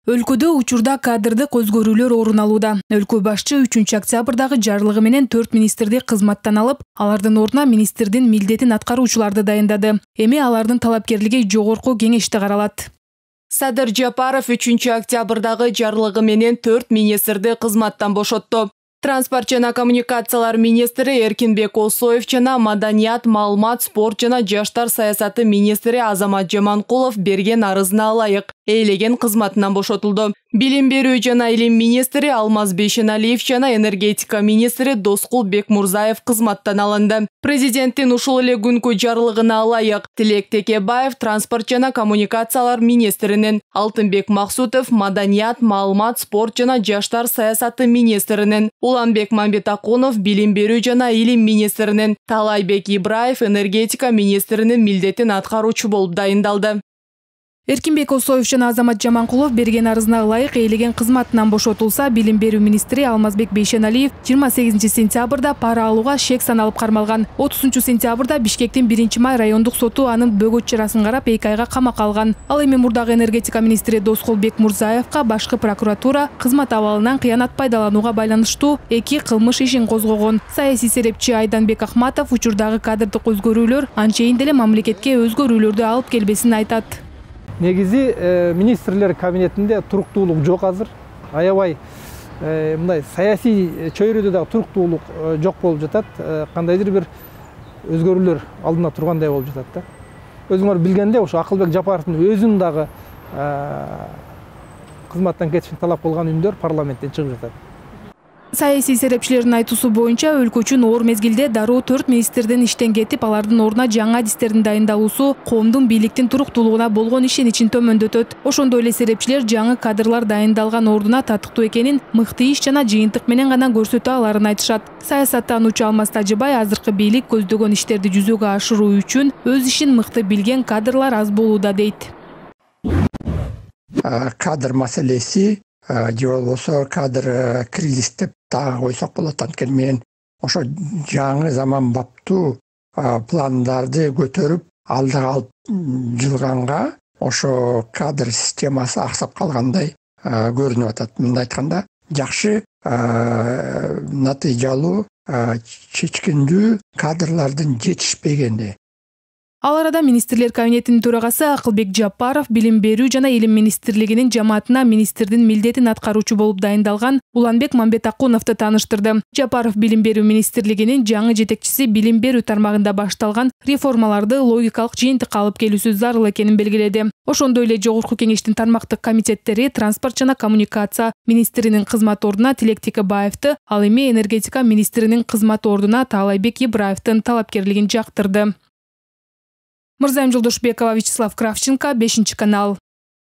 Өлкөдө учурда кадрдык өзгөрүүлөр орун алууда. Өлкө башчы 3-октябрдагы жарлыгы менен 4 министрди кызматтан алып, алардын ордуна министрдин милдетин аткаруучуларды дайындады. Эми алардын талапкерлиги жогорку кеңеште каралат. Садыр Жапаров 3-октябрдагы жарлыгы менен 4 министрди кызматтан бошотту. Транспорт жана коммуникациялар министри Эркинбек Осоев жана маданият, маалымат, спорт жана жаштар саясаты министри Азамат Жаманкулов берген арызына ылайык ээлеген кызматынан бошотулду. Билим берүү жана илим министри Алмаз Бейшеналиев жана энергетика министри Доскул Бекмурзаев кызматтан алынды. Президенттин ушул эле күнкү жарлыгына ылайык Тилек Текебаев транспорт жана коммуникациялар министринин, Алтынбек Максутов маданият, маалымат, спорт жана жаштар саясаты министринин, Уланбек Мамбетакунов билим берүү жана илим министринин, Талайбек Ибраев энергетика министринин милдетин аткаруучу болуп дайындалды. Эркинбек Осоев жана Азамат Жаманкулов берген арызына ылайык ээлеген кызматынан бошотулса, билим берүү министри Алмазбек Бейшеналиев 28 сентябрда пара алууга шек саналып кармалган. 30 сентябрда Бишкектин 1-май райондук соту анын бөгөт чарасын карап 2 айга камакка алган. Ал эми мурдагы энергетика министри Доскул Бекмурзаевка башкы прокуратура кызмат абалынан кыянат пайдаланууга байланыштуу 2 кылмыш ишин козгогон. Саясий серепчи Айданбек Ахматов учурдагы кадрдык өзгөрүүлөр анчейин деле мамлекетке өзгөрүүлөрдү алып келбесин айтат. Негизи министрлер кабинетинде туруктуулук жок азыр. Аябай мындай саясий чөйрөдө дагы туруктуулук жок болуп жатат. Кандайдыр бир өзгөрүүлөр алдына тургандай болуп жатат да. Өзүңөр билгендей, ошо Акылбек Жапаровдун өзүн дагы кызматтан кетишин талап кылган үндөр парламенттен чыгып жатат. Саясий серепчилердин айтуусу боюнча өлкө үчүн оор мезгилде дароо 4 министрдин иштен кетип, алардын ордуна жаңа адистердин дайындалуусу коомдун бийликтин туруктуулугуна болгон ишеничин төмөндөтөт. Ошондой эле серепчилер жаңы кадрлар дайындалган ордуна татыктуу экенин мыкты иш жана жыйынтык менен гана көрсөтө аларын айтышат. Саясаттануучу Алмаз Тажыбай азыркы бийлик көздөгөн иштерди жүзөгө ашыруу үчүн өз ишин мыкты билген кадрлар аз болууда дейт. Кадр маселеси же болбосо кадр кризис деп дагы койсок болот. Анткени мен ошо жаңы заманбаптуу пландарды көтөрүп алдыга алып жылганга ошо кадр системасы аксап калгандай көрүнүп атат. Мындай айтканда жакшы натыйжалуу чечкиндүү кадрлардын жетишпегени. Ал арада министрлер кабинетинин төрагасы Акылбек Жапаров билим берүү жана илим министрлигинин жамаатына министрдин милдетин аткаруучу болуп дайындалган Уланбек Мамбетакуновду тааныштырды. Жапаров билим берүү министрлигинин жаңы жетекчиси билим берүү тармагында башталган реформаларды логикалык жыйынтыкка алып келүүсү зарыл экенин белгиледи. Ошондой эле жогорку кеңештин тармактык комитеттери транспорт жана коммуникация министринин кызмат ордуна Тилек Текебаевди, ал эми энергетика министринин кызмат ордуна Талайбек Ибраевдин талапкерлигин жактырды. Мырзайым Жолдошбекова, Вячеслав Кравченко, 5 канал.